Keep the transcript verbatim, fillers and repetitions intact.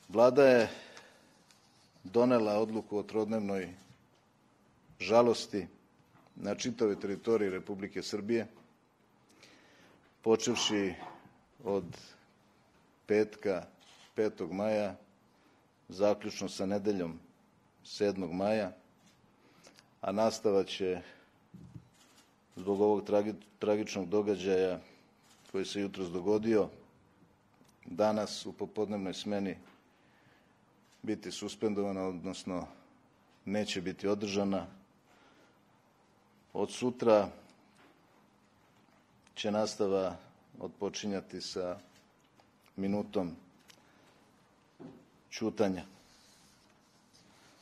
Vlada je donela odluku o trodnevnoj žalosti na čitavoj teritoriji Republike Srbije, počevši od petka petog maja, zaključno sa nedeljom sedmog maja, a nastava će zbog ovog tragičnog događaja koji se jutros dogodio danas u popodnevnoj smeni biti suspendovana, odnosno neće biti održana. Od sutra će nastava otpočinjati sa minutom ćutanja.